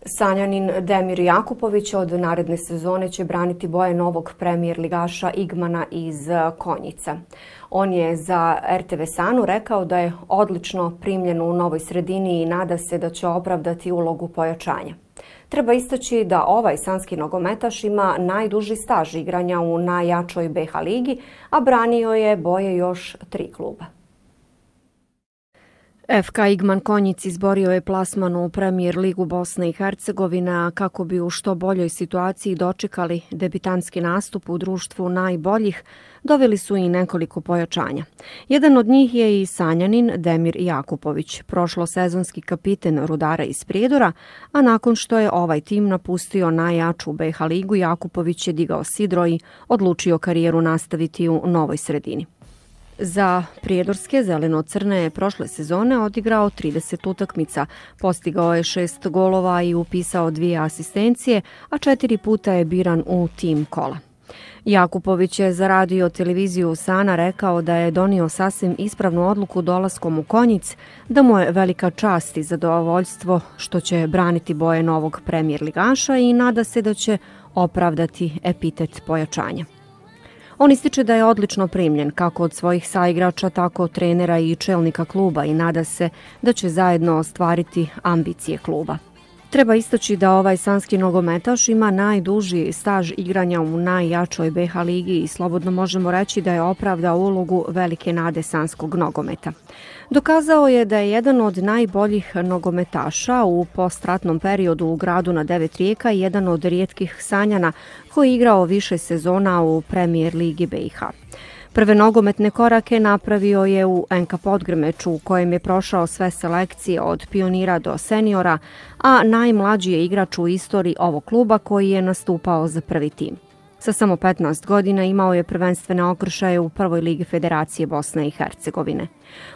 Sanjanin Demir Jakupović od naredne sezone će braniti boje novog premijer ligaša Igmana iz Konjica. On je za RTV Sanu rekao da je odlično primljen u novoj sredini i nada se da će opravdati ulogu pojačanja. Treba istaći da ovaj sanski nogometaš ima najduži staž igranja u najjačoj BH ligi, a branio je boje još 3 kluba. FK Igman Konjic izborio je plasman u Premijer ligu Bosne i Hercegovine, a kako bi u što boljoj situaciji dočekali debitanski nastup u društvu najboljih, doveli su i nekoliko pojačanja. Jedan od njih je i Sanjanin Demir Jakupović, prošlosezonski kapiten Rudara iz Prijedora, a nakon što je ovaj tim napustio najjaču BH ligu, Jakupović je digao sidro i odlučio karijeru nastaviti u novoj sredini. Za prijedorske zeleno-crne je prošle sezone odigrao 30 utakmica, postigao je 6 golova i upisao 2 asistencije, a 4 puta je biran u tim kola. Jakupović je za radio televiziju Sana rekao da je donio sasvim ispravnu odluku dolaskom u Konjic, da mu je velika čast i zadovoljstvo što će braniti boje novog premijer ligaša i nada se da će opravdati epitet pojačanja. On ističe da je odlično primljen kako od svojih saigrača, tako od trenera i čelnika kluba i nada se da će zajedno ostvariti ambicije kluba. Treba istaći da ovaj sanski nogometaš ima najduži staž igranja u najjačoj BH ligi i slobodno možemo reći da je opravdao ulogu velike nade sanskog nogometa. Dokazao je da je jedan od najboljih nogometaša u postratnom periodu u gradu na 9 rijeka i jedan od rijetkih Sanjana koji je igrao više sezona u Premijer ligi BiH. Prve nogometne korake napravio je u NK Podgrmeču u kojem je prošao sve selekcije od pionira do seniora, a najmlađi je igrač u istoriji ovog kluba koji je nastupao za prvi tim. Sa samo 15 godina imao je prvenstvene okršaje u prvoj ligi Federacije Bosne i Hercegovine.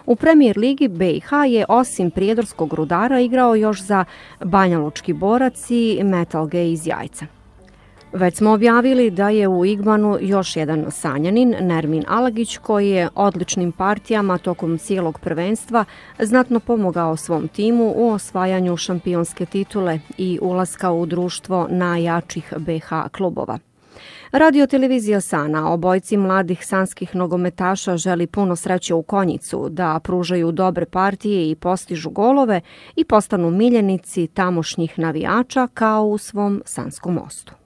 U Premijer ligi BiH je osim prijedorskog Rudara igrao još za Banjalučki Borac i Metal G iz Jajca. Već smo objavili da je u Igmanu još jedan Sanjanin, Nermin Alagić, koji je odličnim partijama tokom cijelog prvenstva znatno pomogao svom timu u osvajanju šampionske titule i ulaska u društvo najjačih BiH klubova. Radio televizija Sana obojci mladih sanskih nogometaša želi puno sreće u Konjicu, da pružaju dobre partije i postižu golove i postanu miljenici tamošnjih navijača kao u svom Sanskom Mostu.